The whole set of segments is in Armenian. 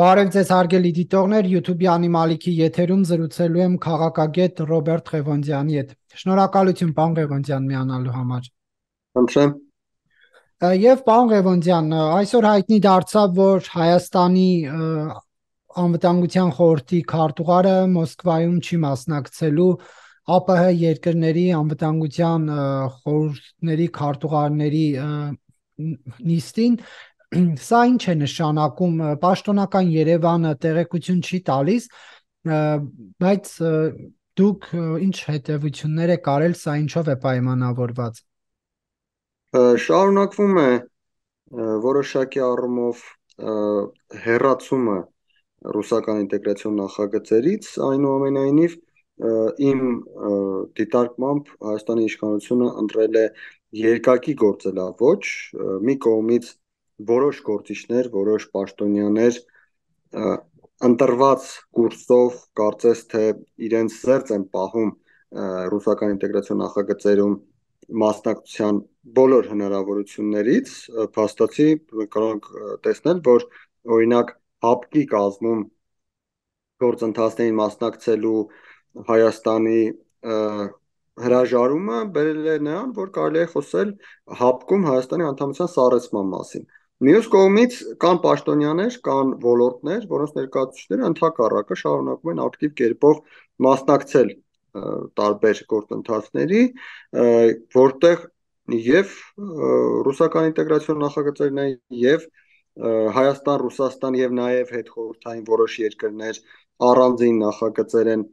Բարև ձեզ հարգելի դիտողներ, YouTube-ի անիմալիքի եթերում զրուցելու եմ քաղաքագետ Ռոբերտ Ղևոնդյանի հետ։ Շնորհակալություն պարոն Ղևոնդյան միանալու համար։ Խնդրեմ։ Եվ պարոն Ղևոնդյան, այսօր հայտնի դարձավ, որ Հայաստանի անվտանգության խորհրդի քարտուղարը Մոսկվայում չի մասնակցելու ԱՊՀ երկրների անվտանգության խորհուրդների քարտուղարների նիստին։ Սա ինչ է նշանակում, պաշտոնական Երևանը տեղեկություն չի տալիս, բայց դուք ինչ հետևություններ եք արել, սա ինչով է պայմանավորված։ Շարունակվում է որոշակի առումով հեռացումը ռուսական ինտեգրացիոն նախագծերից, այնուամենայնիվ իմ դիտարկմամբ Հայաստանի իշխանությունը ընտրել է երկակի գործելաոճ, մի կողմից որոշ գործիչներ, որոշ պաշտոնյաներ ընտրված կուրսով կարծես թե իրենց զերծ են պահում ռուսական ինտեգրացիոն նախագծերում մասնակցության բոլոր հնարավորություններից, փաստացի կարող ենք տեսնել, որ օրինակ ՀԱՊԿ-ի կազմում գործընթացներին մասնակցելու Հայաստանի հրաժարումը բերել է նրան, որ կարելի է խոսել ՀԱՊԿ-ում Հայաստանի անդամության սառեցման մասին։ Մյուս կողմից կան պաշտոնյաներ, կան ոլորտներ, որոնց ներկայացուցիչները ընդհակառակը շարունակում են ակտիվ կերպով մասնակցել տարբեր գործընթացների, որտեղ եւ ռուսական ինտեգրացիոն նախագծերն են եւ Հայաստան, Ռուսաստան եւ նաեւ հետխորհրդային որոշ երկրներ առանձին նախագծեր են,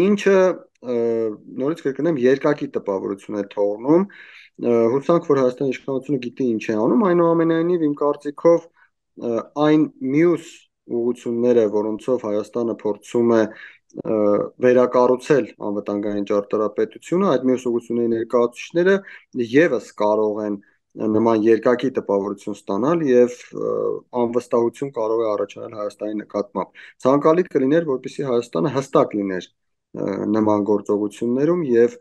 ինչը նորից կրկնեմ երկակի տպավորություն է թողնում, հուսանք, որ Հայաստանի իշխանությունը գիտի ինչ է անում, այնուամենայնիվ իմ կարծիքով այն մյուս ուղղությունները, որոնցով Հայաստանը փորձում է վերակառուցել անվտանգային ճարտարապետությունը, այդ մյուս ուղղությունների ներկայացուցիչները եւս կարող են նման երկակի տպավորություն ստանալ եւ անվստահություն կարող է առաջանալ Հայաստանի նկատմամբ։ Ցանկալի կլիներ, որպեսզի Հայաստանը հստակ լիներ նման գործողություններում եւ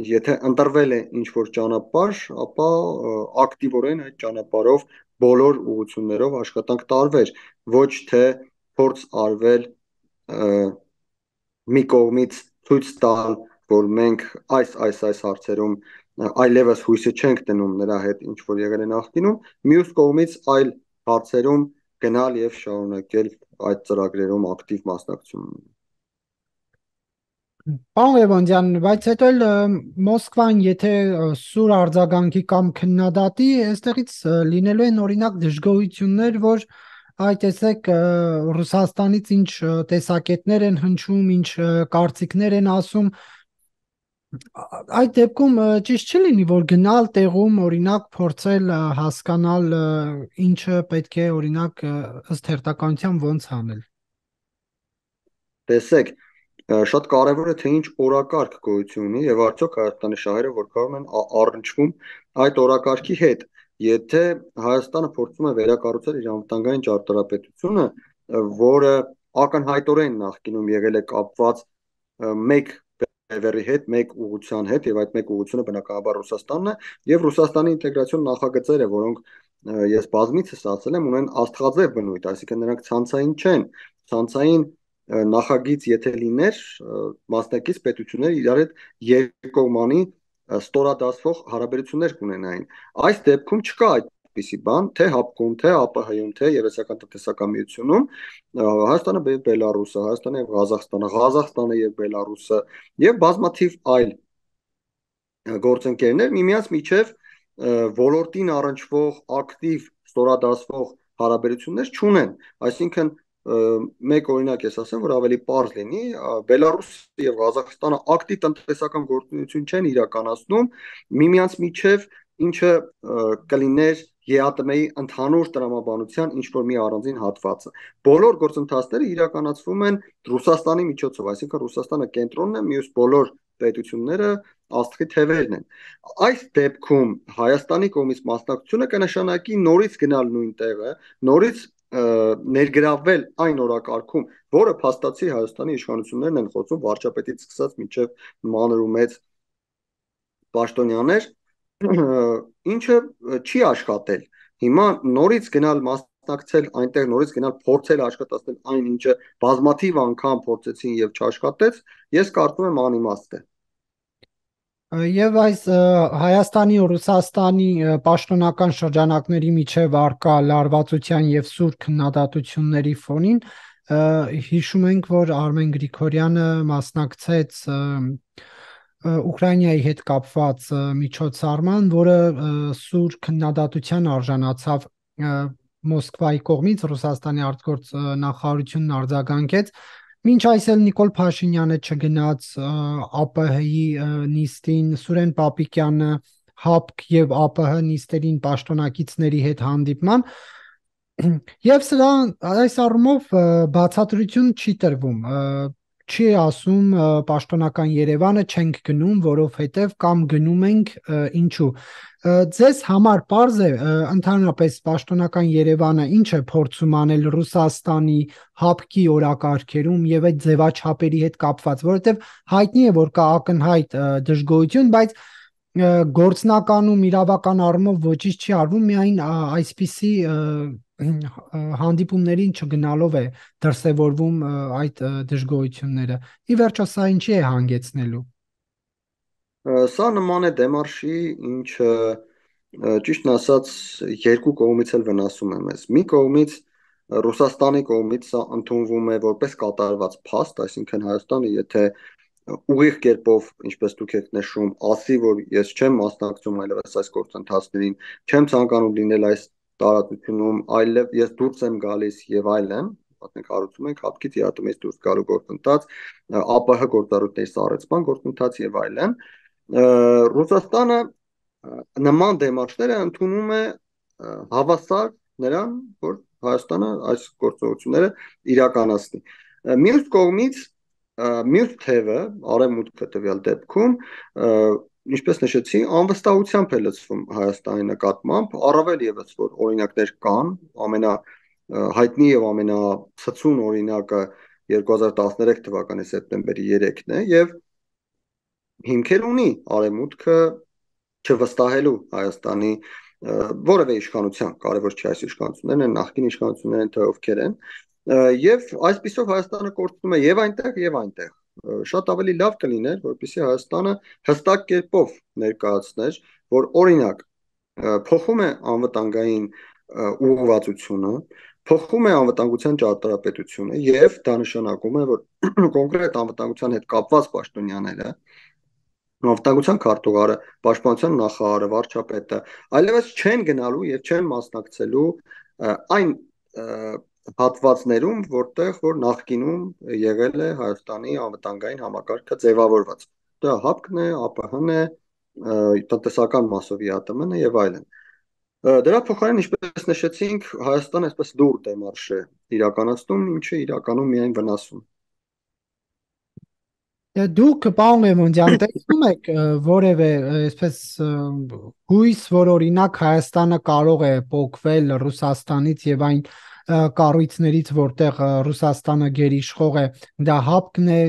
եթե ընտրվել է ինչ-որ ճանապարհ, ապա ակտիվորեն այդ ճանապարհով բոլոր ուղղություններով աշխատանք տարվեր, ոչ թե փորձ արվել մի կողմից ցույց տալ, որ մենք այս հարցերում այլևս հույսը չենք դնում նրա հետ ինչ որ եղել է նախկինում, մյուս կողմից այլ հարցերում գնալ եւ շարունակել այդ ծրագրերում ակտիվ մասնակցություն։ Պարոն Ղևոնդյան, բայց հետո էլ Մոսկվան, եթե սուր արձագանքի կամ քննադատի, այստեղից լինելու են օրինակ դժգոհություններ, որ այ տեսեք Ռուսաստանից ինչ տեսակետներ են հնչում, ինչ կարծիքներ են ասում, այդ դեպքում ճիշտ չի լինի, որ գնալ տեղում օրինակ փորձել հասկանալ ինչը պետք է օրինակ ըստ հերթականության ոնց անել։ Տեսեք, շատ կարևոր է թե ինչ օրակարգ գոյություն ունի եւ արդյոք Հայաստանի շահերը որքան են առնչվում այդ օրակարգի հետ։ Եթե Հայաստանը փորձում է վերակառուցել իր անվտանգային ճարտարապետությունը, որը ակնհայտորեն նախկինում եղել է կապված մեկ բևեռի հետ, մեկ ուղղության հետ եւ այդ մեկ ուղղությունը բնականաբար Ռուսաստանն է եւ Ռուսաստանի ինտեգրացիոն նախագծերը, որոնք ես բազմիցս ասել եմ, ունեն աստղաձև բնույթ, այսինքն նրանք ցանցային չեն, ցանցային նախագիծ եթե լիներ, մասնակից պետությունները իրար հետ երկկողմանի ստորադասվող հարաբերություններ կունենային։ Այս դեպքում չկա այդպիսի բան, թե ՀԱՊԿ-ում, թե ԱՊՀ-ում, թե Եվրասիական տնտեսական միությունում, Հայաստանը, Բելարուսը, Հայաստանը եւ Ղազախստանը, Ղազախստանը եւ Բելարուսը եւ բազմաթիվ այլ գործընկերներ միմյանց միջև ոլորտին առնչվող ակտիվ ստորադասվող հարաբերություններ չունեն, այսինքն մեկ օրինակ ես ասեմ, որ ավելի պարզ լինի, Բելարուսը եւ Ղազախստանը ակտիվ տնտեսական գործունեություն չեն իրականացնում միմյանց միջև, ինչը կլիներ ԵԱՏՄ-ի ընդհանուր տրամաբանության ինչ որ մի առանձին հատվածը։ Բոլոր գործընթացները իրականացվում են Ռուսաստանի միջոցով, այսինքն Ռուսաստանը կենտրոնն է, մյուս բոլոր պետությունները աստղի թևերն են։ Այս դեպքում Հայաստանի կողմից մասնակցությունը կնշանակի նորից գնալ նույն տեղը, նորից ներգրավվել այն օրակարգում, որը փաստացի Հայաստանի իշխանություններն են խոսում վարչապետից սկսած մինչև մանր ու մեծ պաշտոնյաներ, ինչը չի աշխատել։ Հիմա նորից գնալ մասնակցել այնտեղ նորից գնալ փորձել աշխատել այն ինչը բազմաթիվ անգամ փորձեցին եւ չաշխատեց, ես կարծում եմ անիմաստ է։ Եվ այս Հայաստանի ու Ռուսաստանի պաշտոնական շրջանակների միջև արկա լարվածության եւ սուր քննադատությունների ֆոնին հիշում ենք, որ Արմեն Գրիգորյանը մասնակցեց Ուկրաինայի հետ կապված միջոցառման, որը սուր քննադատության արժանացավ Մոսկվայի կողմից Ռուսաստանի արտգործ նախարարությունն արձագանքեց։ Մինչ այս էլ Նիկոլ Փաշինյանը չգնաց ԱՊՀ-ի նիստին, Սուրեն Պապիկյանը ՀԱՊԿ եւ ԱՊՀ նիստերին պաշտոնակիցների հետ հանդիպման, եւ սրա այս առումով բացատրություն չի տրվում, չի ասում պաշտոնական Երևանը չենք գնում, որովհետեւ կամ գնում ենք ինչու։ Ձեզ համար պարզ է ընդհանրապես պաշտոնական Երևանը ինչ է փորձում անել Ռուսաստանի ՀԱՊԿ-ի օրակարգերում եւ այդ ձևաչափերի հետ կապված, որովհետեւ հայտնի է, որ կա ակնհայտ դժգոհություն, բայց գործնականում իրավական առումով ոչինչ չի արվում, միայն այսպիսի հանդիպումներին չգնալով է դրսևորվում այդ դժգոհությունները։ Ի վերջո սա ինչի է հանգեցնելու։ Սա նման է դեմարշի, ինչը ճիշտն ասած երկու կողմից էլ վնասում է մեզ։ Մի կողմից Ռուսաստանի կողմից սա ընդունվում է որպես կատարված փաստ, այսինքն Հայաստանը եթե ուղիղ կերպով, ինչպես դուք եք նշում, ասի, որ ես չեմ մասնակցում այլևս այս գործընթացներին, չեմ ցանկանում լինել այս տարածությունում, այլև ես դուրս եմ գալիս եւ այլն, մենք հարուցում ենք հապկից իհատումից դուրս գալու գործընթաց, ԱՊՀ գործառույթների սառեցման գործընթաց եւ այլն, Ռուսաստանը նման դեմարշները ընդունում է հավասար նրան, որ Հայաստանը այս գործողությունները իրականացնի։ Մյուս կողմից մյուս թևը, արևմուտքը տվյալ դեպքում, ինչպես նշեցի, անվստահությամբ է լցվում Հայաստանի նկատմամբ, առավել եւս որ օրինակներ կան, ամենահայտնի եւ ամենացցուն օրինակը 2013 թվականի սեպտեմբերի 3-ն է եւ հիմքեր ունի արևմուտքը չվստահելու Հայաստանի որևէ իշխանության, կարևոր չի այս իշխանություններն են, նախկին իշխանություններն են, թե ովքեր են, եւ այսպիսով Հայաստանը կորցնում է եւ այնտեղ եւ այնտեղ։ Շատ ավելի լավ կլիներ, որպեսզի Հայաստանը հստակ կերպով ներկայացներ, որ օրինակ փոխում է անվտանգային ուղղվածությունը, փոխում է անվտանգության ճարտարապետությունը եւ դա նշանակում է, որ կոնկրետ անվտանգության հետ կապված պաշտոնյաները անվտանգության քարտուղարը, պաշտպանության նախարարը, վարչապետը այլևս չեն գնալու եւ չեն մասնակցելու այն հատվածներում, որտեղ որ նախկինում եղել է Հայաստանի անվտանգային համակարգը ձևավորված։ Դա ՀԱՊԿ-ն է, ԱՊՀ-ն է, տնտեսական մասով ԵԱՏՄ-ն է եւ այլն։ Դրա փոխարեն, ինչպես նշեցինք, Հայաստանը այսպես դուր դեմարշ է իրականացնում, ինչը իրականում միայն վնասում։ Դուք պարոն Լևոնյան տեսնում եք որևէ այսպես հույս, որ օրինակ Հայաստանը կարող է փոխվել Ռուսաստանից եւ այն կառույցներից, որտեղ Ռուսաստանը գերիշխող է, դա ՀԱՊԿ-ն է,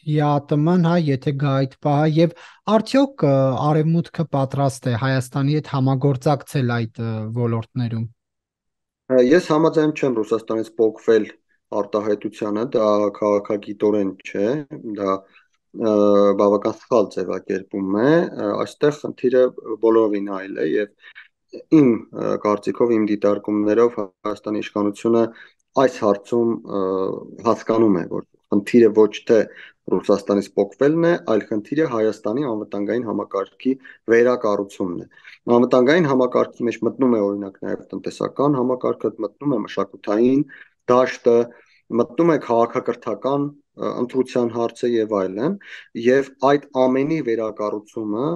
ԵԱՏՄ-ն, հա, եթե գա այդ պահը, եւ արդյոք Արևմուտքը պատրաստ է Հայաստանի հետ համագործակցել այդ ոլորտներում։ Ես համաձայն չեմ Ռուսաստանից փոխվել արտահայտությանը, դա քաղաքագիտորեն չէ, դա բավական սխալ ձևակերպում է, այստեղ խնդիրը բոլորովին այլ է եւ իմ կարծիքով, իմ դիտարկումներով Հայաստանի իշխանությունը այս հարցում հասկանում է, որ խնդիրը ոչ թե Ռուսաստանից փոխվելն է, այլ խնդիրը Հայաստանի անվտանգային համակարգի վերակառուցումն է։ Անվտանգային համակարգի մեջ մտնում է օրինակ նաև տնտեսական համակարգը, մտնում է մշակութային դաշտը, մտնում է քաղաքակրթական ընտրության հարցը եւ այլն, եւ այդ ամենի վերակառուցումը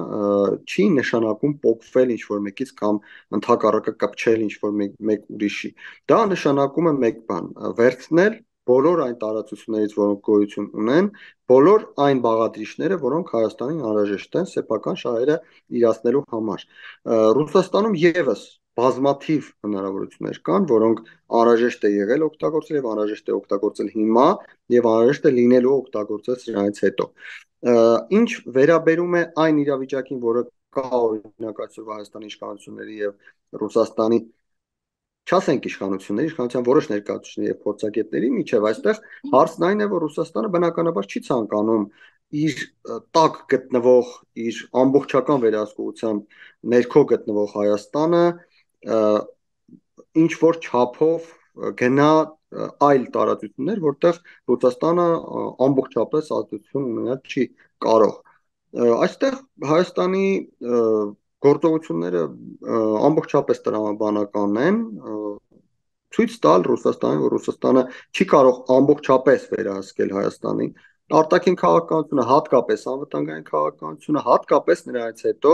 չի նշանակում փոխվել ինչ որ մեկից կամ ընդհակառակը կպչել ինչ որ մեկ ուրիշի։ Դա նշանակում է մեկ բան՝ վերցնել բոլոր այն տարածություններից, որոնք գոյություն ունեն, բոլոր այն բաղադրիչները, որոնք Հայաստանին անհրաժեշտ են սեփական շահերը իրացնելու համար։ Ռուսաստանում եւս բազմաթիվ հնարավորություններ կան, որոնք անհրաժեշտ է եղել օգտագործել եւ անհրաժեշտ է օգտագործել հիմա եւ անհրաժեշտ է լինելու օգտագործել սրանից հետո։ Ինչ վերաբերում է այն իրավիճակին, որը կա օրինակ այսօր Հայաստանի իշխանությունների եւ Ռուսաստանի չասենք իշխանության որոշ ներկայացուցիչների եւ փորձագետների միջև այստեղ հարցն այն է, որ Ռուսաստանը բնականաբար չի ցանկանում իր տակ գտնվող, իր ամբողջական վերահսկողությամբ ներքո գտնվող Հայաստանը ինչ որ չափով գնա այլ տարածություններ, որտեղ Ռուսաստանը ամբողջապես ազդեցություն ունենալ չի կարող։ Այստեղ Հայաստանի գործողությունները ամբողջապես տրամաբանական են, ցույց տալ Ռուսաստանին, որ Ռուսաստանը չի կարող ամբողջապես վերահսկել Հայաստանի արտաքին քաղաքականությունը, հատկապես անվտանգային քաղաքականությունը, հատկապես նրանից հետո,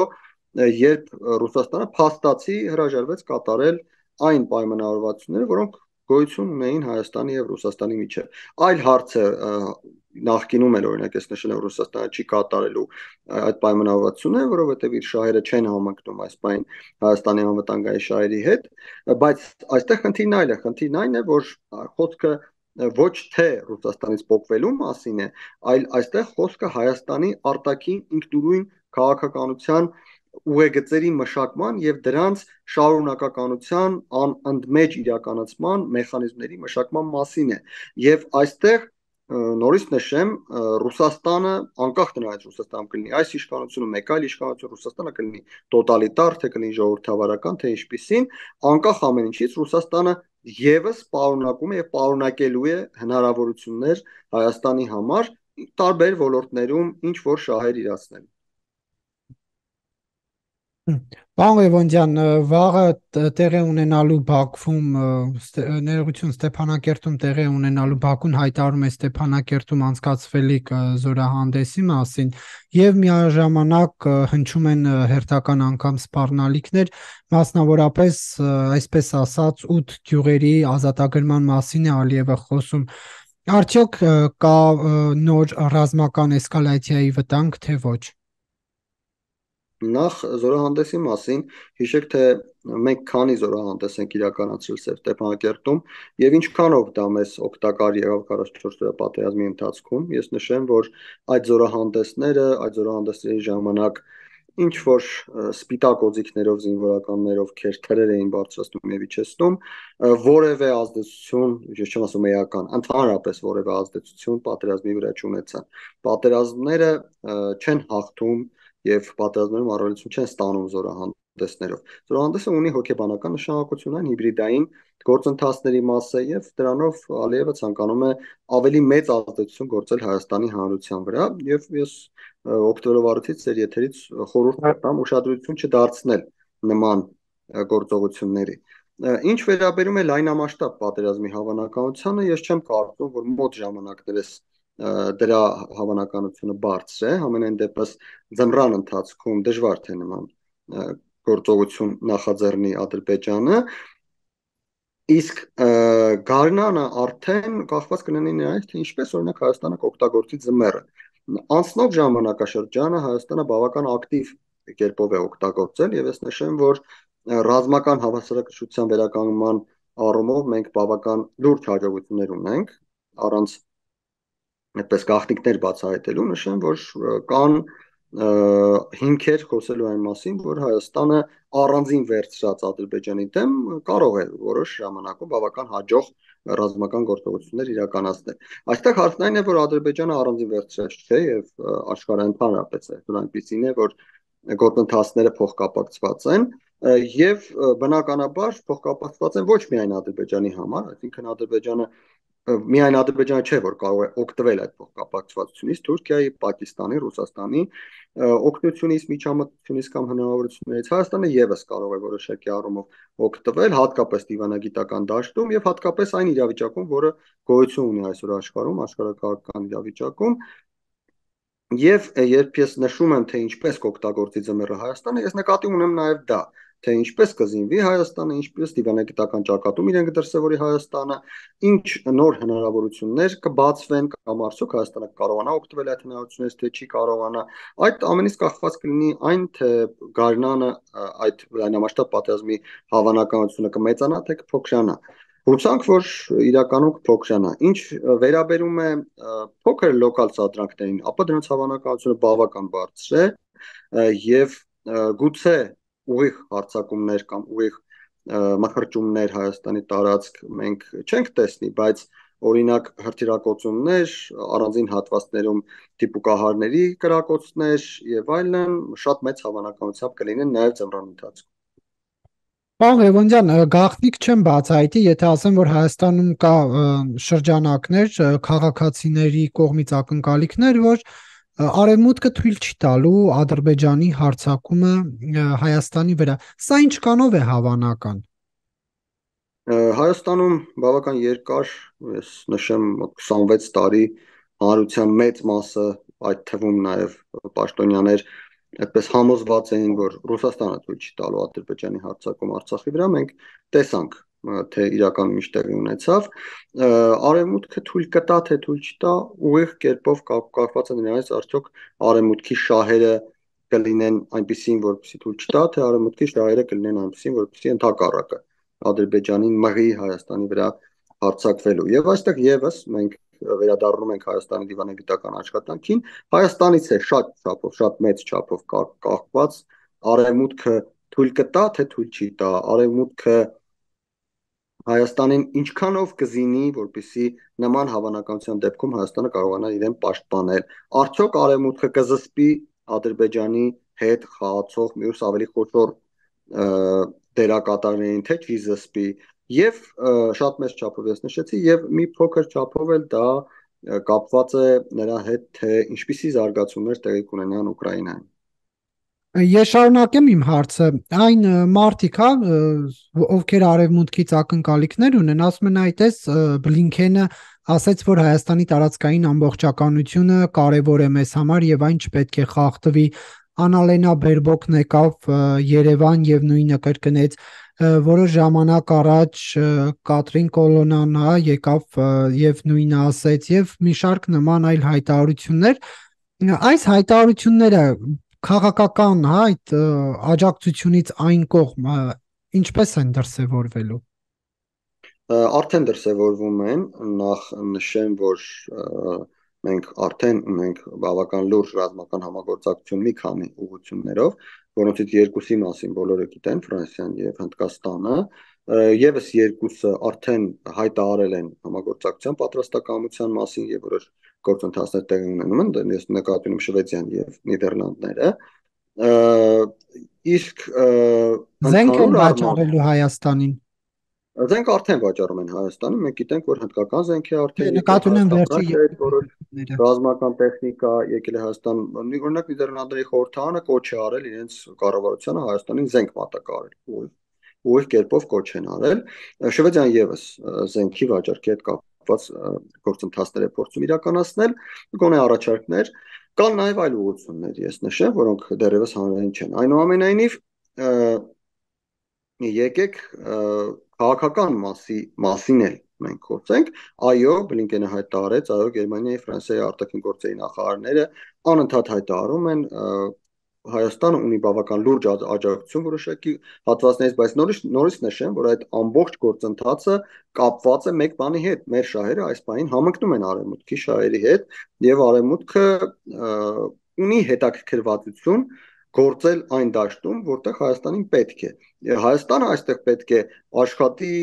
երբ Ռուսաստանը փաստացի հրաժարվեց կատարել այն պայմանավորվածությունները, որոնք գոյություն ունեին Հայաստանի եւ Ռուսաստանի միջեւ։ Այլ հարց է նախկինում էլ օրինակ ես նշել եմ Ռուսաստանը չի կատարելու այդ պայմանավորվածությունները, որովհետեւ իր շահերը չեն համընկնում այս պայն Հայաստանի անվտանգային շահերի հետ, բայց այստեղ խնդիրն այն է, որ խոսքը ոչ թե Ռուսաստանից փոխվելու մասին է, այլ այստեղ խոսքը Հայաստանի արտաքին ինքնուրույն քաղաքականության ուղեգծերի մշակման եւ դրանց շարունակականության անընդմեջ իրականացման մեխանիզմների մշակման մասին է եւ այստեղ նորից նշեմ Ռուսաստանը անկախ նրանից Ռուսաստանում կլինի այս իշխանությունը մեկ այլ իշխանություն Ռուսաստանը կլինի տոտալիտար թե կլինի ժողովրդավարական թե ինչպիսին անկախ ամեն ինչից Ռուսաստանը եւս պարունակում է եւ պարունակելու է հնարավորություններ Հայաստանի համար տարբեր ոլորտներում ինչ որ շահեր իրացնել։ Պարոն Ղևոնդյան, վաղը տեղի ունենալու Բաքվում ներողություն Ստեփանակերտում տեղի ունենալու Բաքուն հայտարարում է Ստեփանակերտում անցկացվելիք զորահանդեսի մասին եւ միաժամանակ հնչում են հերթական անգամ սպառնալիքներ, մասնավորապես այսպես ասած 8 գյուղերի ազատագրման մասին է Ալիևը խոսում։ Արդյոք կա նոր ռազմական էսկալացիայի վտանգ, թե ոչ։ Նախ զորահանդեսի մասին հիշեք, թե մենք քանի զորահանդես ենք իրականացրել Ստեփանակերտում եւ ինչքանով դա մեզ օգտակար եղավ 44 օրյա պատերազմի ընթացքում։ Ես նշեմ, որ այդ զորահանդեսների ժամանակ ինչ որ սպիտակ օձիքներով զինվորականներ, ովքեր թրեր էին բարձրացնում եւ իջեցնում, որևէ ազդեցություն, ես չեմ ասում էական, ընդհանրապես որևէ ազդեցություն պատերազմի վրա չունեցան։ Պատերազմները չեն հաղթում եւ պատերազմներում առավելություն չեն ստանում զորահանդեսներով։ Զորահանդեսը ունի հոգեբանական նշանակություն, այն հիբրիդային գործընթացների մաս է եւ դրանով Ալիևը ցանկանում է ավելի մեծ ազդեցություն գործել Հայաստանի հանրության վրա եւ ես օգտվելով առիթից ձեր եթերից խորհուրդ տամ ուշադրություն չդարձնել նման գործողությունների։ Ինչ վերաբերում է լայնամասշտաբ պատերազմի հավանականությանը, ես չեմ կարծում, որ մոտ ժամանակներս դրա հավանականությունը բարձր է, համենայն դեպս ձմռան ընթացքում դժվար թե նման գործողություն նախաձեռնի Ադրբեջանը, իսկ գարնանը արդեն կախված կլինի նրանից, թե ինչպես օրինակ Հայաստանը կօգտագործի ձմեռը։ Անցնող ժամանակաշրջանը Հայաստանը բավական ակտիվ կերպով է օգտագործել եւ ես նշեմ, որ ռազմական հավասարակշռության վերականգնման առումով մենք բավական լուրջ հաջողություններ ունենք առանց այդպես գաղտնիքներ բացահայտելու նշեմ, որ կան հիմքեր խոսելու այն մասին, որ Հայաստանը առանձին վերցրած Ադրբեջանի դեմ կարող է որոշ ժամանակում բավական հաջող ռազմական գործողություններ իրականացնել։ Այստեղ հարցն այն է, որ Ադրբեջանը առանձին վերցրած չէ եւ աշխարհը ընդհանրապես է այնպեսին է, որ գործընթացները փոխկապակցված են եւ բնականաբար փոխկապակցված են ոչ միայն Ադրբեջանի համար, այսինքն Ադրբեջանը միայն Ադրբեջանը չէ, որ կարող է օգտվել այդ փոխկապակցվածությունից, Թուրքիայի, Պակիստանի, Ռուսաստանի օգնությունից, միջամտությունից կամ հնարավորություններից Հայաստանը եւս կարող է որոշակի առումով օգտվել, հատկապես դիվանագիտական դաշտում եւ հատկապես այն իրավիճակում, որը գոյություն ունի այսօր աշխարհում, աշխարհակաղակական իրավիճակում։ Եվ երբ ես նշում եմ, թե ինչպես կօգտագործի ձմեռը Հայաստանը, ես նկատի ունեմ նաեւ դա, թե ինչպես կզինվի Հայաստանը, ինչպես դիվանագիտական ճակատում իրեն կդրսևորի Հայաստանը, ինչ նոր հնարավորություններ կբացվեն կամ արդյոք Հայաստանը կարողանա օգտվել այդ հնարավորություններից, թե չի կարողանա։ Այդ ամենից կախված կլինի այն, թե գարնանը այդ լայնամասշտաբ պատերազմի հավանականությունը կմեծանա, թե կփոքրանա։ Հուսանք, որ իրականում կփոքրանա։ Ինչ վերաբերում է փոքր լոկալ սադրանքներին, ապա դրանց հավանականությունը բավական բարձր է եւ գուցե ուղիղ հարձակումներ կամ ուղիղ մխրճումներ Հայաստանի տարածք մենք չենք տեսնի, բայց օրինակ հրթիռակոծումներ, առանձին հատվածներում դիպուկահարների կրակոցներ եւ այլն շատ մեծ հավանականությամբ կլինեն նաեւ ձմռան ընթացքում։ Պարոն Ղևոնդյան, գաղտնիք չեմ բացահայտի, եթե ասեմ, որ Հայաստանում կա շրջանակներ, քաղաքացիների կողմից ակնկալիքներ, որ Արևմուտքը թույլ չի տալու Ադրբեջանի հարձակումը Հայաստանի վրա։ Սա ինչ կանով է հավանական։ Հայաստանում բավական երկար, ես նշեմ, 26 տարի հանրության մեծ մասը, այդ թվում նաև պաշտոնյաներ, այդպես համոզված էին, որ Ռուսաստանը թույլ չի տալու Ադրբեջանի հարձակում Արցախի վրա, մենք տեսանք, թե իրականում ինչ տեղի ունեցավ։ Արևմուտքը թույլ կտա, թե թույլ չտա, ուղիղ կերպով կապված է նրանից, արդյոք Արևմուտքի շահերը կլինեն այնպիսին, որպեսզի թույլ չտա, թե Արևմուտքի շահերը կլինեն այնպիսին, որպեսզի ընդհակառակը Ադրբեջանին մղի Հայաստանի վրա հարձակվելու։ Եվ այստեղ եւս մենք վերադառնում ենք Հայաստանի դիվանագիտական աշխատանքին, Հայաստանից է շատ չափով, շատ մեծ չափով կախված Արևմուտքը թույլ կտա, թե թույլ չի տա, Արևմուտքը Հայաստանին ինչքանով կզինի, որպեսզի նման հավանականության դեպքում Հայաստանը կարողանա իրեն պաշտպանել։ Արդյոք Արևմուտքը կզսպի Ադրբեջանի հետ խաղացող մյուս ավելի խոշոր դերակատարներին, թե չի զսպի, եւ շատ մեծ չափով ես նշեցի, եւ մի փոքր չափով էլ դա կապված է նրա հետ, թե ինչպիսի զարգացումներ տեղի կունենան Ուկրաինայում։ Ես շարունակեմ իմ հարցը։ Այն մարդիկ, հա, ովքեր Արևմուտքից ակնկալիքներ ունեն, ասում են այտես Բլինքենը ասաց, որ Հայաստանի տարածքային ամբողջականությունը կարևոր է մեզ համար եւ այն չպետք է խախտվի։ Անալենա Բերբոկն եկավ Երևան եւ նույնը կրկնեց։ Որոշ ժամանակ առաջ Կատրին Կոլոնան եկավ եւ նույնը ասեց եւ մի շարք նման այլ հայտարարություններ։ Այս հայտարարությունները քաղաքական, այդ աջակցությունից այն կողմ ինչպես են դրսևորվելու։ Արդեն դրսևորվում են, նախ նշեմ, որ մենք արդեն ունենք բավական լուրջ ռազմական համագործակցություն մի քանի ուղղություններով, որոնցից երկուսի մասին բոլորը գիտեն, Ֆրանսիան եւ Հնդկաստանը, եւս երկուսը արդեն հայտարարել են համագործակցության պատրաստակամության մասին եւ որոշ գործընթացներ տեղի ունենում են, ես նկատի ունեմ Շվեդիան եւ Նիդերլանդները, իսկ զենք են վաճառելու Հայաստանին։ Զենք արդեն վաճառում են Հայաստանում, մենք գիտենք, որ հնդկական զենք է արդեն նկատի ունեմ վերջի ռազմական տեխնիկա եկել է Հայաստան, օրինակ Նիդերլանդների խորհրդարանը կոչ է արել իրենց կառավարությանը Հայաստանին զենք մատակարարել, ուղիղ կերպով կոչ են արել։ Շվեդիան եւս զենքի վաճառքի հետ կապված գործընթացներ է փորձում իրականացնել, գոնե առաջարկներ, կան նաեւ այլ ուղղություններ, ես նշեմ, որոնք դեռևս հանրային չեն։ Այնուամենայնիվ եկեք քաղաքական մասին էլ մենք խոսենք, այո, Բլինկենը հայտարարեց, այո, Գերմանիայի, Ֆրանսիայի արտաքին գործերի նախարարները անընդհատ հայտարարում են, Հայաստանը ունի բավական լուրջ աջակցություն որոշակի հատվածներից, բայց նորից նշեմ, որ այդ ամբողջ գործընթացը կապված է մեկ բանի հետ, մեր շահերը այս բանին համընկնում են Արևմուտքի շահերի հետ, եւ Արևմուտքը ունի հետաքրքրվածություն գործել այն դաշտում, որտեղ Հայաստանին պետք է։ Հայաստանը այստեղ պետք է աշխատի,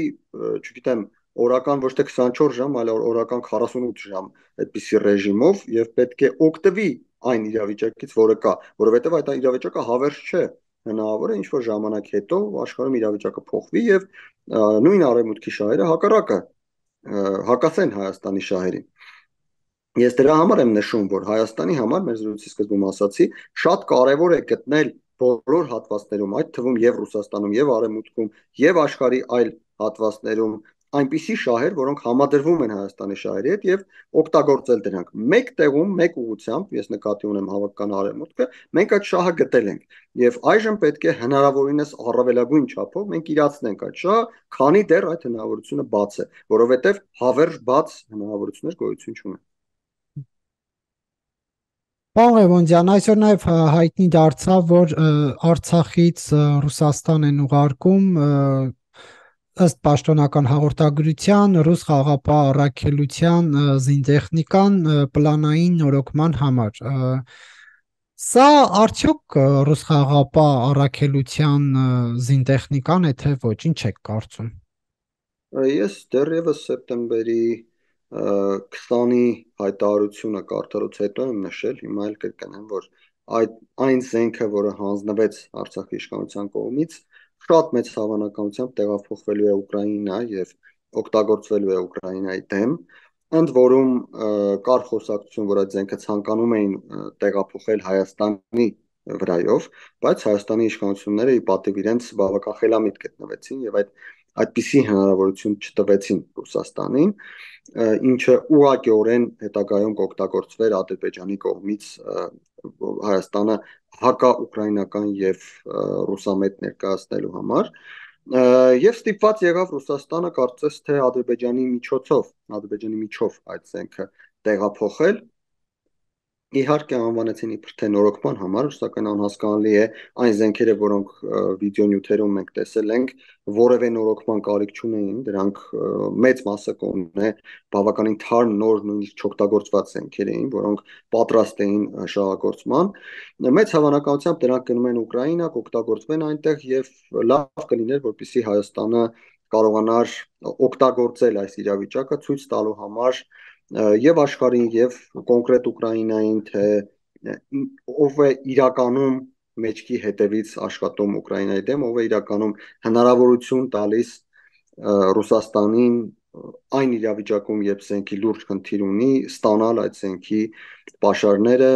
չգիտեմ, օրական ոչ թե 24 ժամ, այլ օրական 48 ժամ այդպիսի ռեժիմով եւ պետք է օգտվի այն իրավիճակից, որը կա, որովհետեւ այդ իրավիճակը հավերժ չէ։ Հնարավոր է ինչ-որ ժամանակ հետո աշխարհում իրավիճակը փոխվի եւ նույն Արևմուտքի շահերը հակասեն Հայաստանի շահերին։ Ես դրա համար եմ նշում, որ Հայաստանի համար, մեր զրույցի սկզբում ասացի, շատ կարևոր է գտնել բոլոր հատվածներում, այդ թվում եւ Ռուսաստանում, եւ Արևմուտքում, եւ աշխարհի այլ հատվածներում այնպիսի շահեր, որոնք համադրվում են Հայաստանի շահերի հետ եւ օգտագործել դրանք։ Մեկ տեղում, մեկ ուղղությամբ, ես նկատի ունեմ հավաքական Արևմուտքը, մենք այդ շահը գտել ենք եւ այժմ պետք է հնարավորինս առավելագույն չափով մենք իրացնենք այդ շահը, քանի դեռ այդ հնարավորությունը բաց է, որովհետեւ հավերժ բաց հնարավորություններ գոյություն չունեն։ Պարոն Ղևոնդյան, այսօր նաև հայտնի դարձավ, որ Արցախից Ռուսաստան են ուղարկում ըստ պաշտոնական հաղորդագրության ռուս խաղաղապահ առաքելության զինտեխնիկան պլանային նորոգման համար։ Սա արդյոք ռուս խաղաղապահ առաքելության զինտեխնիկան է, թե ոչ, ինչ եք կարծում։ Ես դեռևս սեպտեմբերի 20-ի հայտարարությունը կարդալուց հետո եմ նշել, հիմա էլ կրկնեմ, որ այն զենքը, որը հանձնվեց Արցախի իշխանության կողմից, շատ մեծ հավանականությամբ տեղափոխվելու է Ուկրաինա եւ օգտագործվելու է Ուկրաինայի դեմ։ Ընդ որում կար խոսակցություն, որ այդ զենքը ցանկանում էին տեղափոխել Հայաստանի վրայով, բայց Հայաստանի իշխանությունները ի պատիվ իրենց բավական խելամիտ գտնվեցին եւ այդպիսի հնարավորություն չտվեցին Ռուսաստանին, ինչը ուղղակիորեն հետագայում կօգտագործվեր Ադրբեջանի կողմից Հայաստանը հակաուկրաինական եւ ռուսամետ ներկայացնելու համար։ Եվ ստիպված եղավ Ռուսաստանը կարծես թե Ադրբեջանի միջով այդ զենքը տեղափոխել, իհարկե անվանեցին իբր թե նորոգման համար, սակայն անհասկանալի է այն զենքերը, որոնք վիդեոնյութերում մենք տեսել ենք, որևէ նորոգման կարիք չունեին, դրանք մեծ մասը կողմն է բավականին թարմ նոր նույնիսկ չօգտագործված զենքեր էին, որոնք պատրաստ էին շահագործման։ Մեծ հավանականությամբ դրանք գնում են Ուկրաինա, կօգտագործվեն այնտեղ եւ լավ կլիներ, որպեսզի Հայաստանը կարողանար օգտագործել այս իրավիճակը ցույց տալու համար եւ աշխարհին եւ կոնկրետ Ուկրաինային, թե ով է իրականում մեջքի հետևից աշխատում Ուկրաինայի դեմ, ով է իրականում հնարավորություն տալիս Ռուսաստանին այն իրավիճակում, երբ զենքի լուրջ խնդիր ունի, ստանալ այդ զենքի պաշարները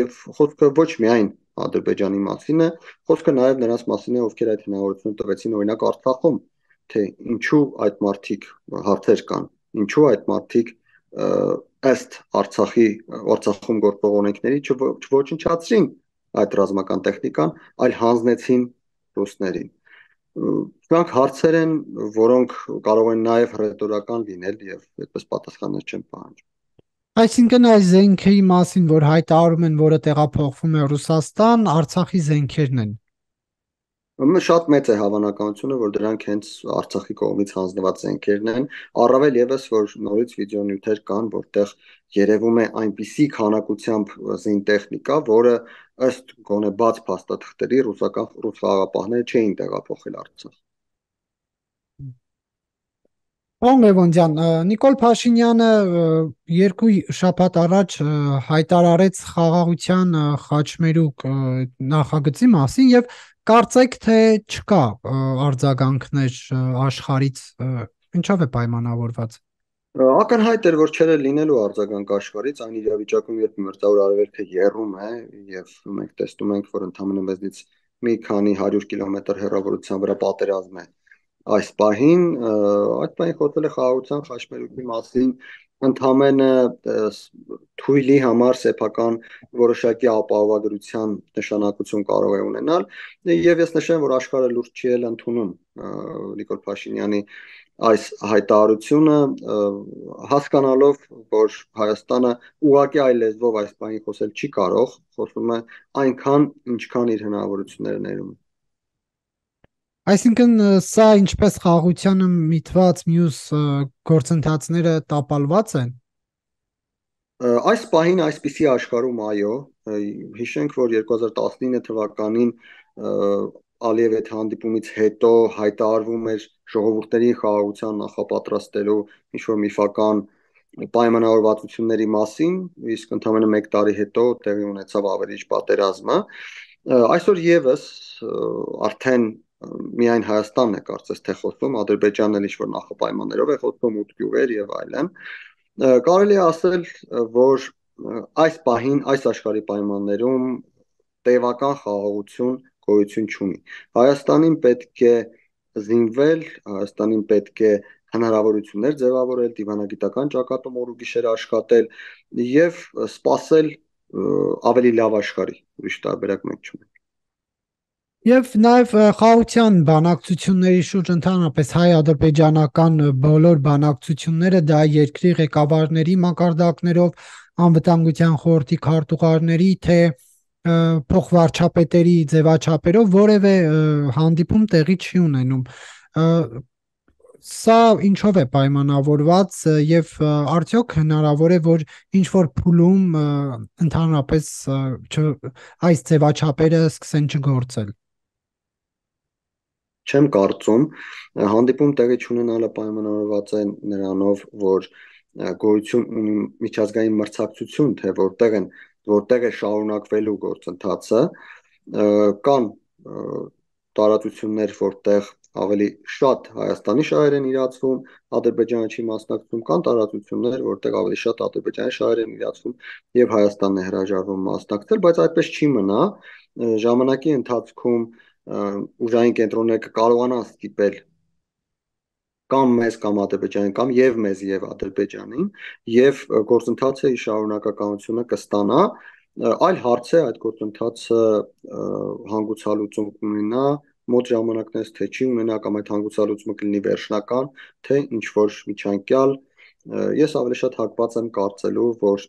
եւ խոսքը ոչ միայն Ադրբեջանի մասին է, խոսքը նաեւ նրանց մասին է, ովքեր այդ հնարավորությունը տվեցին, օրինակ Արցախում, թե ինչու այդ մարդիկ հարցեր կան, ինչու այդ մարդիկ ըստ Արցախում գործող օրենքների չոչնչացրին այդ ռազմական տեխնիկան, այլ հանձնեցին ռուսներին։ Դրանք հարցեր են, որոնք կարող են նաև հռետորական լինել եւ այդպես պատասխաններ չեն պահանջում։ Այսինքն այս զենքերի մասին, որ հայտարարում են, որը տեղափոխվում է Ռուսաստան, Արցախի զենքերն են։ Շատ մեծ է հավանականությունը, որ դրանք հենց Արցախի կողմից հանձնված զենքերն են, առավել եւս, որ նորից վիդեոնյութեր կան, որտեղ երևում է այնպիսի քանակությամբ զինտեխնիկա, որը ըստ գոնե բաց փաստաթղթերի ռուս խաղաղապահները չէին տեղափոխել Արցախ։ Պարոն Լևոնդյան, Նիկոլ Փաշինյանը երկու շաբաթ առաջ հայտարարեց խաղաղության խաչմերուկ նախագծի մասին եւ կարծեք թե չկա արձագանքներ աշխարից, ինչով է պայմանավորված։ Ակնհայտ էր, որ չէր լինելու արձագանք աշխարից այն իրավիճակում, երբ մերձավոր արևելքը եռում է եւ մենք տեսնում ենք, որ ընդամենը մեզնից մի քանի 100 կիլոմետր հեռավորության վրա պատերազմ է այս պահին, այդ պահին խոսել է խաղաղության խաչմերուկի մասին, ընդամենը թույլի համար սեփական որոշակի ապահովագրության նշանակություն կարող է ունենալ, եւ ես նշեմ, որ աշխարհը լուրջ չի էլ ընդունում Նիկոլ Փաշինյանի այս հայտարարությունը, հասկանալով, որ Հայաստանը ուղղակի այլ լեզվով այս բանի խոսել չի կարող, խոսում է այնքան, ինչքան իր հնարավորությունները ներում։ Այսինքն սա ինչպես խաղաղությանը միտված մյուս գործընթացները տապալված են։ Այս պահին այսպիսի աշխարհում այո, հիշենք, որ 2019 թվականին Ալիև այդ հանդիպումից հետո հայտարարվում էր ժողովուրդների խաղաղության նախապատրաստելու ինչ-որ միֆական պայմանավորվածությունների մասին, իսկ ընդամենը 1 տարի հետո տեղի ունեցավ ավերիչ պատերազմը։ Այսօր եւս արդեն միայն Հայաստանն է կարծես թե խոսում, Ադրբեջանն էլ ինչ-որ նախապայմաններով է խոսում, 8 գյուղեր եւ այլն։ Կարելի է ասել, որ այս պահին, այս աշխարհի պայմաններում տևական խաղաղություն գոյություն չունի։ Հայաստանին պետք է զինվել, Հայաստանին պետք է հնարավորություններ ձևավորել, դիվանագիտական ճակատում օր ու գիշեր աշխատել եւ սпасել ավելի լավ աշխարհի։ Ուրիշ տարբերակ մենք չունենք։ Եվ նաև խաղաղության բանակցությունների շուրջ ընդհանրապես հայ-ադրբեջանական բոլոր բանակցությունները դա երկրի ղեկավարների մակարդակներով, անվտանգության խորհրդի քարտուղարների, թե փոխվարչապետերի ձևաչափերով որևէ հանդիպում տեղի չի ունենում։ Սա ինչով է պայմանավորված եւ արդյոք հնարավոր է որ ինչ որ փուլում ընդհանրապես այս ձևաչափերը սկսեն չգործել։ Չեմ կարծում, հանդիպում տեղի չունենալը պայմանավորված է նրանով, որ գոյություն ունի միջազգային մրցակցություն, թե որտեղ է շարունակվելու գործընթացը, կան տարածություններ, որտեղ ավելի շատ Հայաստանի շահեր են իրացվում, Ադրբեջանը չի մասնակցում, կան տարածություններ, որտեղ ավելի շատ Ադրբեջանի շահեր են իրացվում եւ Հայաստանն է հրաժարվում մասնակցել, բայց այդպես չի մնա, ժամանակի ընթացքում ուժային կենտրոնները կկարողանան ստիպել կամ մեզ կամ Ադրբեջանին կամ եւ մեզ եւ Ադրբեջանին եւ գործընթացը իր շարունակականությունը կստանա, այլ հարց է այդ գործընթացը հանգուցալուծում կունենա մոտ ժամանակներից թե չի ունենա կամ այդ հանգուցալուծումը կլինի վերջնական թե ինչ որ միջանկյալ, ես ավելի շատ հակված եմ կարծելու, որ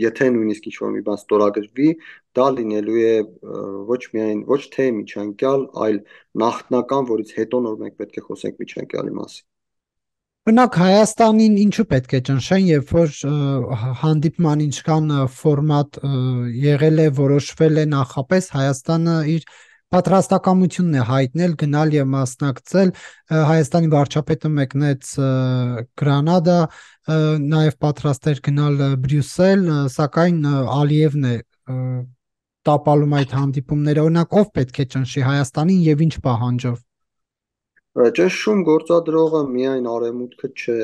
եթե նույնիսկ ինչ-որ մի բան ստորագրվի, դա լինելու է ոչ թե միջանկյալ, այլ նախնական, որից հետո նոր մենք պետք է խոսենք միջանկյալի մասին։ Բնակ Հայաստանին ինչու պետք է ճնշեն, երբ որ հանդիպման ինչքան ֆորմատ եղել է, որոշվել է նախապես, Հայաստանը իր պատրաստակամությունն է հայտնել գնալ եւ մասնակցել, Հայաստանի վարչապետը մեկնեց Գրանադա, նաեւ պատրաստ էր գնալ Բրյուսել, սակայն Ալիևն է տապալում այդ հանդիպումները, օրինակ ով պետք է ճնշի Հայաստանին եւ ինչ պահանջով։ Ճնշում գործադրողը միայն Արևմուտքը չէ,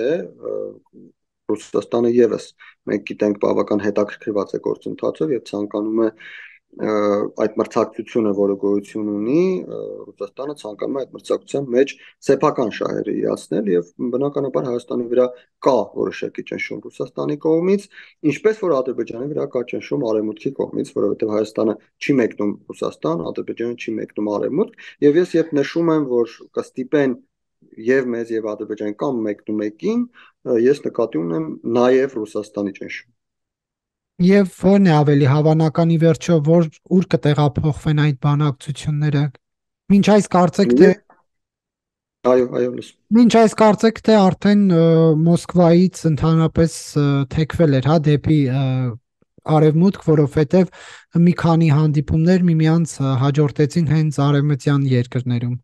Ռուսաստանը եւս մենք գիտենք բավական հետաքրքրված է գործընթացով եւ ցանկանում է այդ մրցակցությունը, որը գոյություն ունի, Ռուսաստանը ցանկանում է այդ մրցակցության մեջ սեփական շահերը իրացնել եւ բնականաբար Հայաստանի վրա կա որոշակի ճնշում Ռուսաստանի կողմից, ինչպես որ Ադրբեջանի վրա կա ճնշում Արևմուտքի կողմից, որովհետեւ Հայաստանը չի մեկնում Ռուսաստան, Ադրբեջանը չի մեկնում Արևմուտք, եւ ես երբ նշում եմ, որ կստիպեն եւ մեզ եւ Ադրբեջան կամ մեկնումեկին, ես նկատի ունեմ նաեւ Ռուսաստանի ճնշում։ Եվ ո՞րն է ավելի հավանական ի վերջո, ուր կտեղափոխվեն այդ բանակցությունները։ Մինչ այս կարծեք թե Այո, լսում։ Մինչ այս կարծեք թե արդեն Մոսկվայից ընդհանրապես թեքվել էր, հա, դեպի արևմուտք, որովհետև մի քանի հանդիպումներ միմյանց հաջորդեցին հենց արևմտյան երկրներում։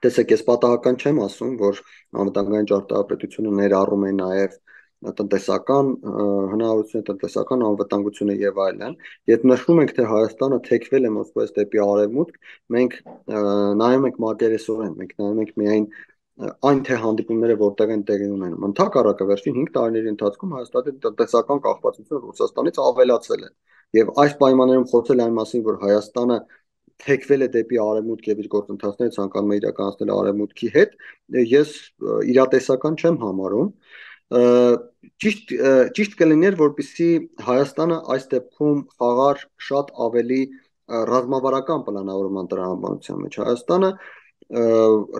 Տեսեք, ես պատահական չեմ ասում, որ անվտանգային ճարտարապետությունը ներառում է նաև տնտեսական հնարավորությունը, տնտեսական անվտանգությունը եւ այլն։ Երբ նշում ենք, թե Հայաստանը թեքվել է Մոսկվայից դեպի արևմուտք, մենք նայում ենք մակերեսորեն, մենք նայում ենք միայն այն թե հանդիպումները որտեղ են տեղի ունենում։ Ընդհակառակը վերջին 5 տարիների ընթացքում Հայաստանի տնտեսական կախվածությունը Ռուսաստանից ավելացել է։ Եվ այս պայմաններում խոսել այն մասին, որ Հայաստանը թեքվել է դեպի արևմուտք եւ իր գործընթացները ցանկանում է իրականացնել արևմուտքի հետ, ես իրատեսական չեմ համարում։ Ճիշտ կլիներ, որպեսզի Հայաստանը այս դեպքում խաղար շատ ավելի ռազմավարական պլանավորման տրամաբանության մեջ։ Հայաստանը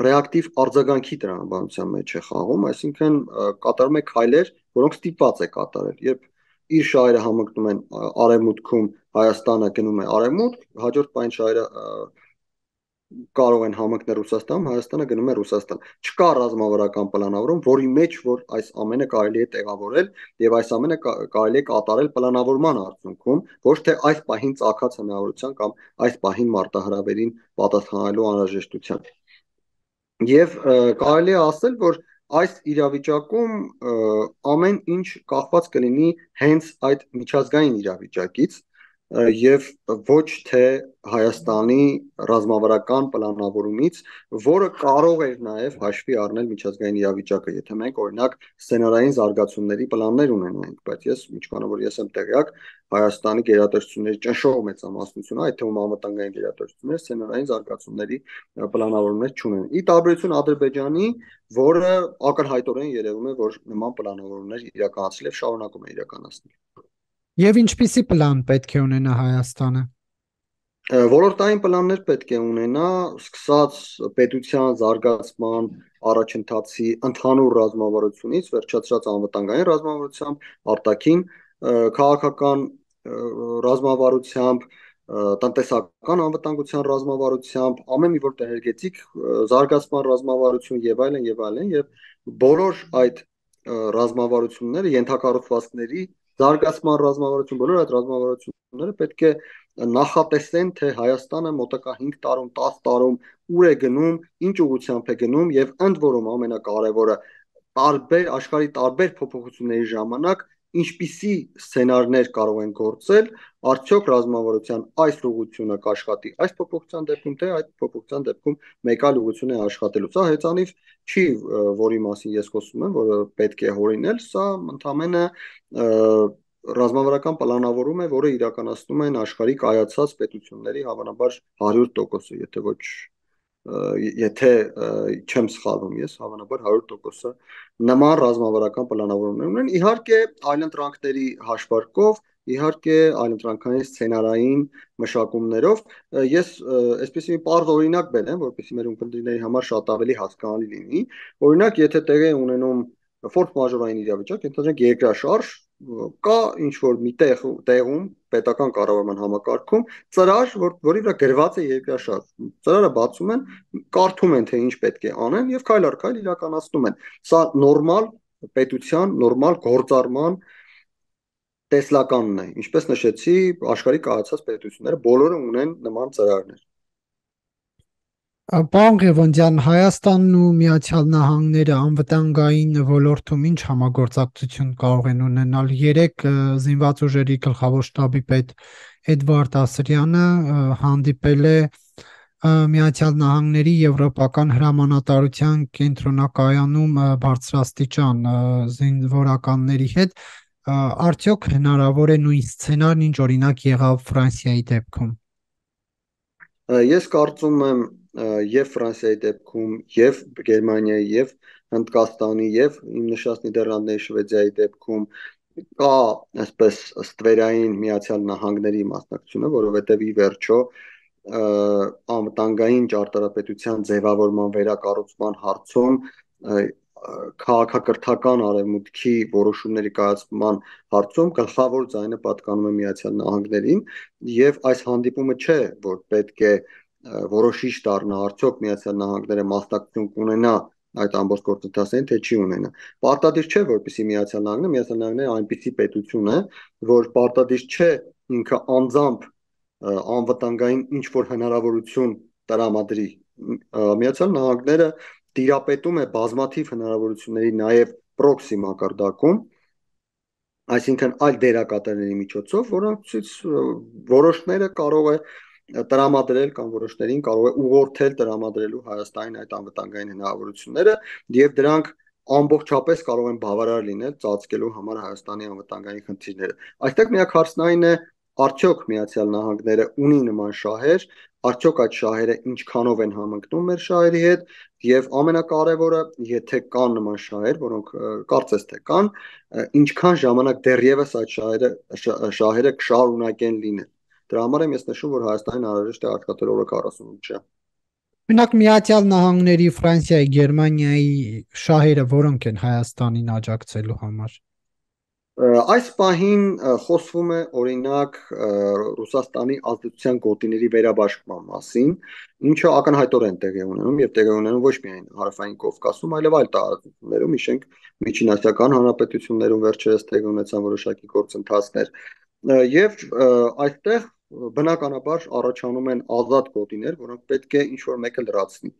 ռեակտիվ արձագանքի տրամաբանության մեջ է խաղում, այսինքն կատարում է քայլեր, որոնք ստիպված է կատարել։ Երբ իր շահերը համընկնում են արևմուտքում, Հայաստանը գնում է արևմուտք, հաջորդ պայն շահերը կարող են համընկնել Ռուսաստանում, Հայաստանը գնում է Ռուսաստան։ Չկա ռազմավարական պլանավորում, որի մեջ որ այս ամենը կարելի է տեղավորել եւ այս ամենը կարելի է կատարել պլանավորման արդյունքում, ոչ թե այս պահին ցակած հնարավորության կամ այս պահին մարտահրավերին պատասխանելու անհրաժեշտության։ Եվ կարելի է ասել, որ այս իրավիճակում ամեն ինչ կախված կլինի հենց այդ միջազգային իրավիճակից եւ ոչ թե Հայաստանի ռազմավարական պլանավորումից, որը կարող էր նաեւ հաշվի առնել միջազգային իրավիճակը, եթե մենք օրինակ սցենարային զարգացումների պլաններ ունենայինք, բայց ես ինչքանով որ ես եմ տեղյակ, Հայաստանի գերատեսչությունների ճնշող մեծամասնությունը, այդ թվում անվտանգային գերատեսչությունները սցենարային զարգացումների պլանավորումներ չունեն։ Ի տարբերություն Ադրբեջանի, որը ակնհայտորեն երևում է, որ նման պլանավորումներ իրականացրել եւ շարունակում է իրականացնել։ Եվ ինչպիսի պլան պետք է ունենա Հայաստանը։ Ոլորտային պլաններ պետք է ունենա, սկսած պետության զարգացման առաջընթացի ընդհանուր ռազմավարությունից, վերջացրած անվտանգային ռազմավարությամբ, արտաքին քաղաքական ռազմավարությամբ, տնտեսական անվտանգության ռազմավարությամբ, ամեն մի որտ էներգետիկ զարգացման ռազմավարություն եւ այլն եւ այլն եւ բոլոր այդ ռազմավարությունները ենթակառուցվածքների զարգացման ռազմավարություն, բոլոր այդ ռազմավարությունները պետք է նախատեսեն, թե Հայաստանը մոտակա 5 տարում, 10 տարում ուր է գնում, ինչ ուղղությամբ է գնում եւ ընդ որում ամենակարևորը տարբեր աշխարհի տարբեր փոփոխությունների ժամանակ ինչպիսի սցենարներ կարող են գործել, արդյոք ռազմավարության այս ուղղությունը կաշխատի այս փոփոխության դեպքում, թե այդ փոփոխության դեպքում մեկ այլ ուղղություն է աշխատելու։ Սա հեծանիվ չի, որի մասին ես խոսում եմ, որը պետք է հորինել, սա ընդամենը ռազմավարական պլանավորում է, որը իրականացնում են աշխարհի կայացած պետությունների հավանաբար 100%-ը, եթե ոչ եթե չեմ սխալվում ես, հավանաբար 100%-ը նման ռազմավարական պլանավորումներ ունեն, իհարկե այլընտրանքների հաշվարկով, իհարկե այլընտրանքային սցենարային մշակումներով, ես այսպես մի պարզ օրինակ բերեմ, որպեսզի մեր ունկնդիրների համար շատ ավելի հասկանալի լինի, օրինակ եթե տեղի ունենում ֆորս մաժորային իրավիճակ, ենթադրենք երկրաշարժ, կա ինչ որ մի տեղում պետական կառավարման համակարգում ծրար, որի վրա գրված է երկրաշարժ։ Ծրարը բացում են, կարդում են, թե ինչ պետք է անեն եւ քայլ առ քայլ իրականացնում են։ Սա նորմալ պետության, նորմալ գործառման տեսլականն է։ Ինչպես նշեցի, աշխարհի կայացած պետությունները բոլորը ունեն նման ծրարներ։ Պարոն Ղևոնդյան, Հայաստանն ու Միացյալ Նահանգները անվտանգային ոլորտում ինչ համագործակցություն կարող են ունենալ։ Երեք զինված ուժերի գլխավոր շտաբի պետ Էդվարդ Ասրյանը հանդիպել է Միացյալ Նահանգների Եվրոպական հրամանատարության կենտրոնակայանում բարձրաստիճան զինվորականների հետ։ Արդյոք հնարավոր է նույն սցենարն, ինչ օրինակ եղավ Ֆրանսիայի դեպքում։ Ես կարծում եմ եւ Ֆրանսիայի դեպքում, եւ Գերմանիայի, եւ Հնդկաստանի, եւ իմ նշած Նիդերլանդների, Շվեդիայի դեպքում կա այսպես ստվերային Միացյալ Նահանգների մասնակցությունը, որովհետեւ ի վերջո անվտանգային ճարտարապետության ձևավորման վերակառուցման հարցում քաղաքակրթական արևմուտքի որոշումների կայացման հարցում գլխավոր ձայնը պատկանում է Միացյալ Նահանգներին եւ այս հանդիպումը չէ, որ պետք է որոշիչ դառնա արդյոք Միացյալ Նահանգները մասնակցություն կունենա այդ ամբողջ գործընթացին, թե չի ունենա։ Պարտադիր չէ, որպեսզի Միացյալ Նահանգները այնպիսի պետություն է, որ պարտադիր չէ ինքը անձամբ անվտանգային ինչ որ հնարավորություն տրամադրի։ Միացյալ Նահանգները տիրապետում է բազմաթիվ հնարավորությունների նաև պրոքսի մակարդակում, այսինքն այլ դերակատարների միջոցով, որոնցից որոշները կարող է տրամադրել կամ որոշներին կարող է ուղղորդել տրամադրելու Հայաստանին այդ անվտանգային հնարավորությունները եւ դրանք ամբողջապես կարող են բավարար լինել ծածկելու համար Հայաստանի անվտանգային խնդիրները։ Այստեղ միակ հարցն այն է, արդյոք Միացյալ Նահանգները ունի նման շահեր, արդյոք այդ շահերը ինչքանով են համընկնում մեր շահերի հետ եւ ամենակարևորը, եթե կան նման շահեր, որոնք կարծես թե կան, ինչքան ժամանակ դեռևս այդ շահերը կշարունակեն լինել։ Դրա համար եմ ես նշում, որ Հայաստանին անհրաժեշտ է աշխատել օրը 48 ժամ։ Օրինակ Միացյալ Նահանգների, Ֆրանսիայի, Գերմանիայի շահերը որոնք են Հայաստանին աջակցելու համար։ Այս պահին խոսվում է օրինակ Ռուսաստանի ազդեցության գոտիների վերաբաշխման մասին, ինչը ակնհայտորեն տեղի ունենում եւ տեղի ունենում ոչ միայն Հարավային Կովկասում, այլև այլ տարածություններում, իշենք Միջինասիական հանրապետություններում վերջերս տեղի ունեցան որոշակի գործընթացներ։ Եվ այստեղ բնականաբար առաջանում են ազատ գոտիներ, որոնք պետք է ինչ-որ մեկը լրացնի։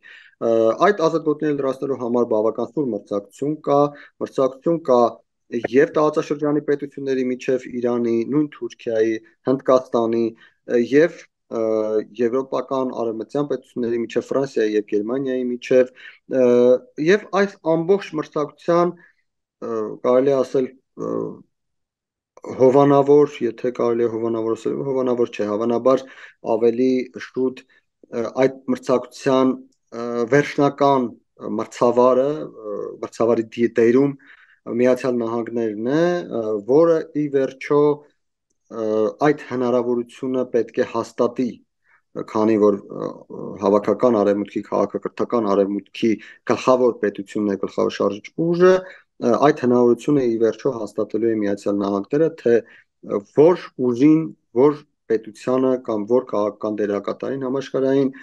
Այդ ազատ գոտիները լրացնելու համար բավական սուր մրցակցություն կա եւ տարածաշրջանի պետությունների միջև Իրանի, նույն Թուրքիայի, Հնդկաստանի եւ եվրոպական արևմտյան պետությունների միջև Ֆրանսիայի եւ Գերմանիայի միջև եւ այս ամբողջ մրցակցության կարելի ասել հովանավոր, եթե կարելի է հովանավոր ասել, հովանավոր չէ, հավանաբար ավելի շուտ այդ մրցակցության վերջնական մրցավարի դիտերում Միացյալ Նահանգներն է, որը ի վերջո այդ հնարավորությունը պետք է հաստատի, քանի որ հավաքական արևմուտքի, քաղաքակրթական արևմուտքի գլխավոր պետությունն է, գլխավոր շարժիչ ուժը, այդ հնարավորությունը ի վերջո հաստատելու է Միացյալ Նահանգները, թե որ ուժին, որ պետությանը կամ որ քաղաքական դերակատարին համաշխարհային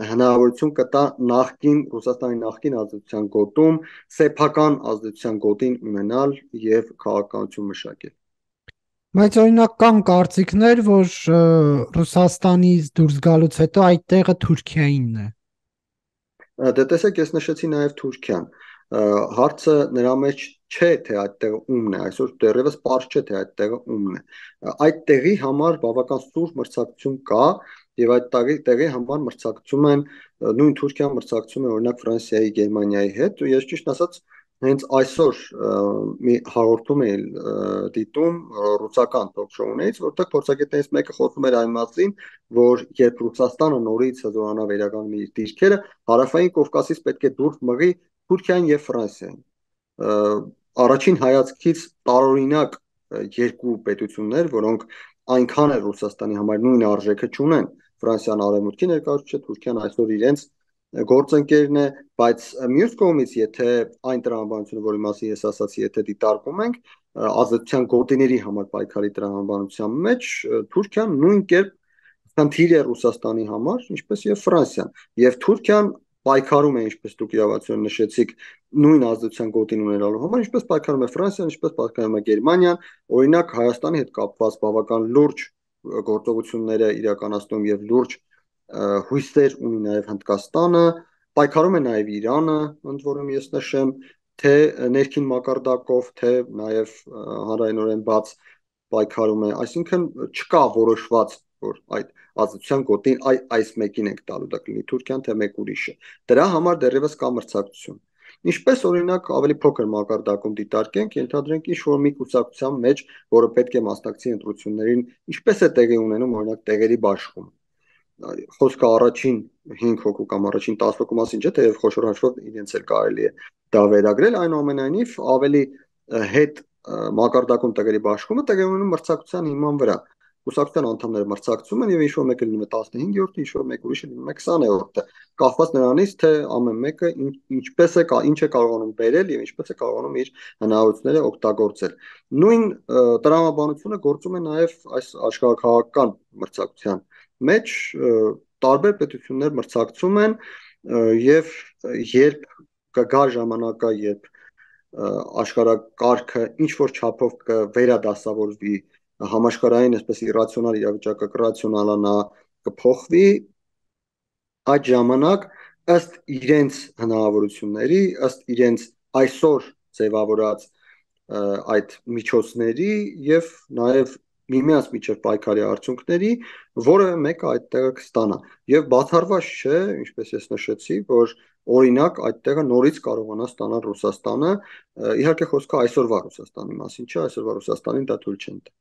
հնարավորություն կտա նախկին Ռուսաստանի նախկին ազդեցության գոտում սեփական ազդեցության գոտին ունենալ եւ քաղաքականություն մշակել։ Բայց օրինակ կան կարծիքներ, որ Ռուսաստանից դուրս գալուց հետո այդ տեղը Թուրքիայինն է։ Դե տեսեք, ես նշեցի նաև Թուրքիան։ Հարցը նրա մեջ չէ, թե այդտեղը ումն է, այսօր դեռևս պարզ չէ, թե այդտեղը ումն է։ Այդ տեղի համար բավական սուր մրցակցություն կա եւ այդ տեղի համար մրցակցում են նույն Թուրքիան մրցակցում է օրինակ Ֆրանսիայի, Գերմանիայի հետ։ Ես ճիշտ ասած հենց այսօր մի հաղորդում էի դիտում ռուսական թոք-շոուներից, որտեղ փորձագետներից մեկը խոսում էր այն մասին, որ երբ Ռուսաստանը նորից հզորանա վերականգնի իր դիրքերը, հարավային Կովկասից պետք է դուրս մղի Թուրքիան եւ Ֆրանսիան։ Առաջին հայացքից տարօրինակ երկու պետություններ, որոնք այնքան էլ Ռուսաստանի համար նույն արժեքը չունեն։ Ֆրանսիան արևմուտքի ներկայացուցիչ է, Թուրքիան այսօր իրենց գործընկերն է, բայց մյուս կողմից, եթե այն տրամաբանությունը, որի մասին ես ասացի, եթե դիտարկում ենք ազատության գոտիների համար պայքարի տրամաբանության մեջ, Թուրքիան նույն կերպ խնդիր է Ռուսաստանի համար, ինչպես եւ Ֆրանսիան։ Եվ Թուրքիան պայքարում է, ինչպես դուք իրավացիորեն նշեցիք, նույն ազդեցության գոտին ունենալու համար, ինչպես պայքարում է Ֆրանսիան, ինչպես պայքարում է Գերմանիան, օրինակ Հայաստանի հետ կապված բավական լուրջ գործողությունները իրականացնում եւ լուրջ հույսեր ունի նաեւ Հնդկաստանը, պայքարում է նաեւ Իրանը, ընդ որում ես նշեմ, թե ներքին մակարդակով, թե նաեւ հանրայնորեն բաց պայքարում է, այսինքն չկա որոշված, որ այդ ազատության գոտին այս մեկին ենք տալու, դա կլինի Թուրքիան, թե մեկ ուրիշը։ Դրա համար դեռևս կա մրցակցություն։ Ինչպես օրինակ ավելի փոքր մակարդակում դիտարկենք, ենթադրենք ինչ որ մի կուսակցության մեջ, որը պետք է մասնակցի ընտրություններին, ինչպես է տեղի ունենում օրինակ տեղերի բաշխում։ Խոսքը առաջին 5 հոգու կամ առաջին 10 հոգու մասին չէ, թեև խոշոր հաշվով իրենց էլ կարելի է դա վերագրել, այնուամենայնիվ ավելի հետ մակարդակում տեղերի բաշխումը տեղի ունենում մրցակցության հիման վրա։ Կուսակցության անդամները մրցակցում են եւ ինչ որ մեկը լինում է 15-րդը, ինչ որ մեկ ուրիշը լինում է 20-րդը, կախված նրանից, թե ամեն մեկը ինչպես է ինչ է կարողանում բերել եւ ինչպես է կարողանում իր հնարավորությունները օգտագործել։ Նույն տրամաբանությունը գործում է նաեւ այս աշխարհակաղակական մրցակցության մեջ տարբեր պետություններ մրցակցում են եւ երբ կգա ժամանակը, երբ աշխարհակարգը ինչ որ չափով կվերադասավորվի համաշխարհային այսպես իրացիոնալ իրավիճակը կռացիոնալանա, կփոխվի, այդ ժամանակ ըստ իրենց հնարավորությունների, ըստ իրենց այսօր ձևավորած այդ միջոցների եւ նաեւ միմյանց միջև պայքարի արդյունքների որևէ մեկը այդտեղը կստանա եւ բացառված չէ, ինչպես ես նշեցի, որ օրինակ այդտեղը նորից կարողանա ստանալ Ռուսաստանը, իհարկե խոսքը այսօրվա Ռուսաստանի մասին չէ, այսօրվա Ռուսաստանին դա թույլ չեն տա։